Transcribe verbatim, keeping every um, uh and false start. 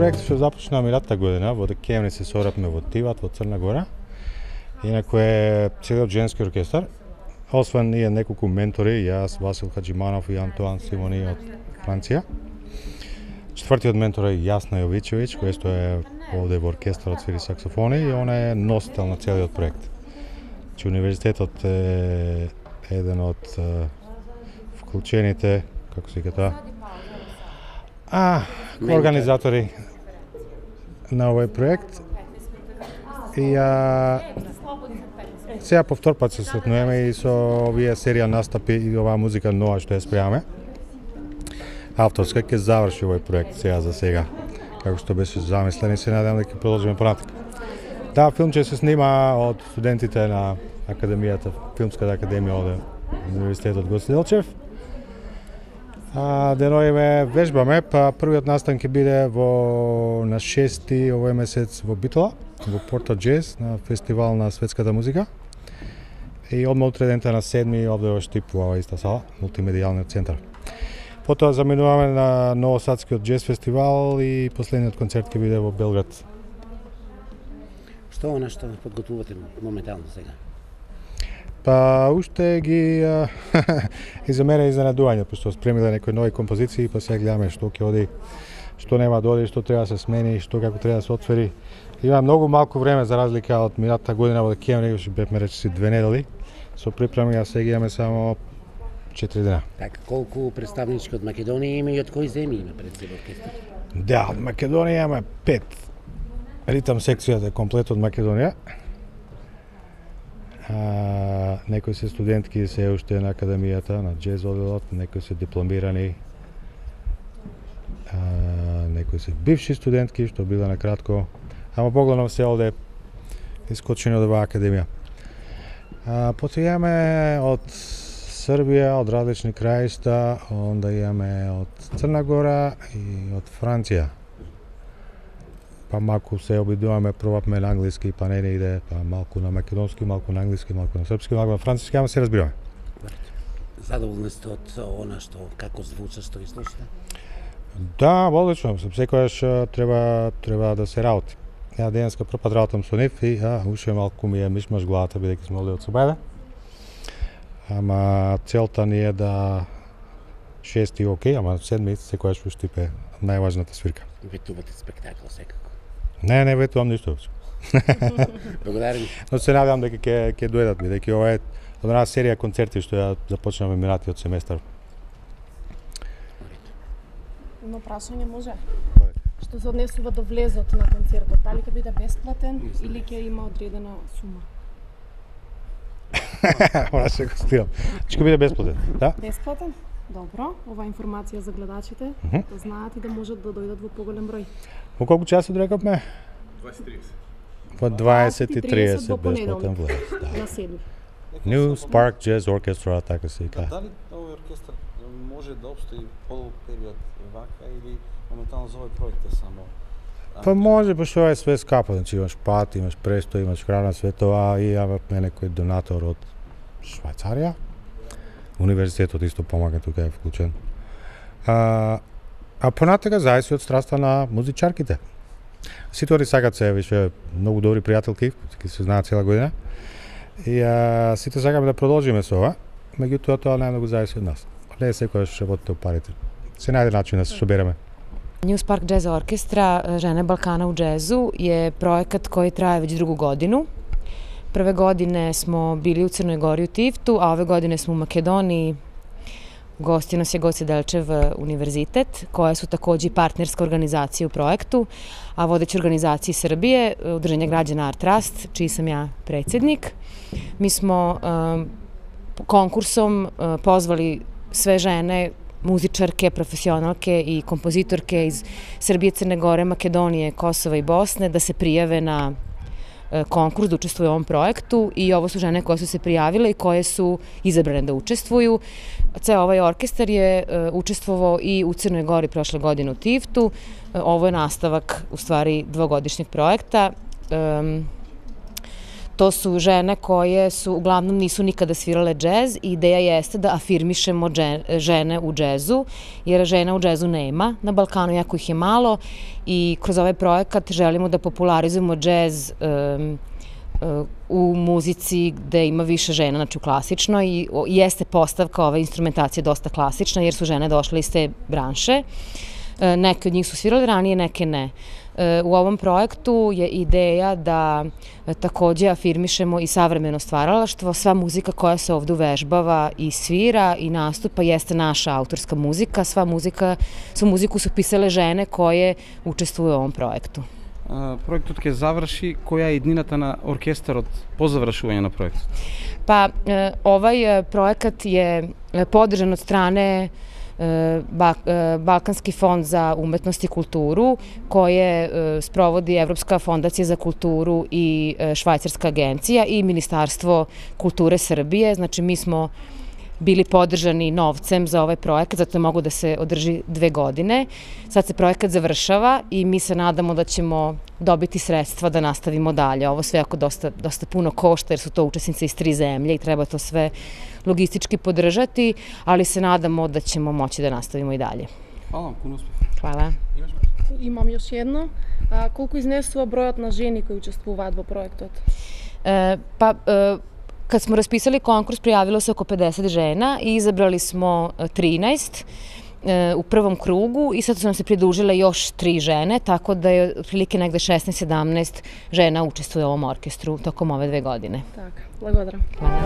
проект што започна минатата година, во декември се собравме во Тиват, во Црна Гора. Инаку е целиот женски оркестар, освен ние неколку ментори, јас, Васил Хаджиманов и Антуан Симони од Франција. Четвртиот ментор е Јасна Јовичевиќ, кој што е овде во оркестарот свири саксофони и она е носител на целиот проект. Че универзитетот е еден од вклучените, како се тоа, а, организатори на овој проект. И а, сега по втор пат се сретнуваме и со овие серија настапи и оваа музика нова што ја спремаме. Авторска ќе заврши овој проект сега за сега, како што беше замислен и се надевам дека ќе продолжиме понатаму. Да, филм ќе се снима од студентите на академијата, филмската академија од Универзитетот Гоце Делчев. А, деновиве вежбаме, па првиот настан ќе биде во на шести овој месец во Битола, во Порто Джез, на фестивал на светската музика. И одма утре дента на седми овде во Штип, во оваа иста сала, мултимедијалниот центар. Потоа заминуваме на Новосадскиот джез фестивал и последниот концерт ќе биде во Белград. Што е што подготвувате моментално сега? Па уште ги и за мене изненадување, пошто спремиле некои нови композиции, па сега гледаме што ќе оди, што нема да оди, што треба да се смени, што како треба да се отвори. Има многу малку време за разлика од минатата година во декември, што бевме речиси две недели. Со припреми, а сега имаме само четири дена. Така, колку представнички од Македонија има и од кои земји има пред себе оркестар? Да, од Македонија имаме пет. Ритам секцијата е комплет од Македонија. А, некои се студентки се уште на академијата, на джез одделот, некои се дипломирани. А, некои се бивши студентки, што биле на кратко. Ама погледно се овде искочени од оваа академија. А, потоа имаме од Србија, од различни краишта, онда имаме од Црна Гора и од Франција. Па малку се обидуваме, пробавме на англиски, па не не иде, па малку на македонски, малку на англиски, малку на српски, малку на француски, ама се разбираме. Задоволни сте од она што како звучи, што изслушате? Да, одлично, секогаш треба треба да се работи. Ја денеска прв пат работам со нив и а, уште малку ми е мишмаш главата, бидејќи сме овде од Собајда. Ама целта ни е да шести окей, ама седми секогаш во Штип е најважната свирка. Ветувате спектакл секако? Не, не ветувам ништо. Благодарам. Но се надевам дека ќе ќе дојдат, бидејќи ова е од една серија концерти што ја започнавме минатиот семестар. Но прашање може. Што се однесува до влезот на концертот, дали ќе биде бесплатен или ќе има одредена сума? Ора се го стирам. Ќе биде бесплатен, да? Бесплатен? Добро, ова информација за гледачите, mm -hmm. да знаат и да можат да дојдат во поголем број. Во колку часот рекавме? дваесет и тридесет. Во дваесет и тридесет бесплатен влез, да. На седми. New Spark Jazz Orchestra, така се вика. Дали овој оркестар може да обстои подолг период вака или моментално за овој проект е само? Па може, па што е све скапо, значи имаш пат, имаш престој, имаш храна, све тоа и имаме некој донатор од Швајцарија. Универзитетот исто помага, тука е вклучен. А, а понатака зависи од страста на музичарките. Сите они сакат се више многу добри пријателки, ќе се знаат цела година. И а, сите сакаме да продолжиме со ова, меѓутоа тоа најмногу зависи од нас. Не секогаш работите парите. Се најде начин да се собереме. New Spark Jazz Orchestra, Žene Balkana u džezu, je projekat koji traje već drugu godinu. Prve godine smo bili u Crnoj Gori u Tivtu, a ove godine smo u Makedoniji. Gosti nas je Goce Delčev univerzitet, koje su takođe partnerska organizacija u projektu, a vodeća organizacija Srbije, Udruženje građana Art Trust, čiji sam ja predsednik. Mi smo um, konkursom uh, pozvali sve žene, muzičarke, profesionalke i kompozitorke iz Srbije, Crne Gore, Makedonije, Kosova i Bosne da se prijave na konkurs da učestvuju u ovom projektu i ovo su žene koje su se prijavile i koje su izabrane da učestvuju. Ceo ovaj orkestar je učestvovao i u Crnoj Gori prošle godine u Tivtu. Ovo je nastavak u stvari dvogodišnjeg projekta. To su žene koje su uglavnom nisu nikada svirale džez i ideja jeste da afirmišemo žene u džezu, jer žena u džezu nema na Balkanu, jako ih je malo i kroz ovaj projekat želimo da popularizujemo džez um, u muzici gde ima više žena, znači u klasičnoj, i jeste postavka ove instrumentacije dosta klasična jer su žene došle iz te branše. Neke od njih su svirale ranije, neke ne. U ovom projektu je ideja da takođe afirmišemo i savremeno stvaralaštvo. Sva muzika koja se ovde uvežbava i svira i nastupa jeste naša autorska muzika. Sva muzika, svu muziku su pisale žene koje učestvuju u ovom projektu. Проектот ќе заврши, која е иднината на оркестарот по завршување на проектот? Pa, ovaj projekat je podržan od strane Balkanski fond za umetnost i kulturu, koje sprovodi Evropska fondacija za kulturu i Švajcarska agencija i Ministarstvo kulture Srbije. Znači, mi smo bili podržani novcem za ovaj projekat, zato je mogu da se održi dve godine. Sad se projekat završava i mi se nadamo da ćemo dobiti sredstva da nastavimo dalje. Ovo sve jako dosta, dosta puno košta jer su to učesnice iz tri zemlje i treba to sve logistički podržati, ali se nadamo da ćemo moći da nastavimo i dalje. Hvala, puno uspeh. Hvala. Имам još jedno. A, колку изнесува бројот на жени кои учествуваат во проектот? E, pa, e, kad smo raspisali konkurs, prijavilo se oko pedeset žena i izabrali smo trinaest u prvom krugu i sad su nam se pridružile još tri žene, tako da je otprilike negde šesnaest sedamnaest žena učestvuje u ovom orkestru tokom ove dve godine. Так, благодарам. Hvala.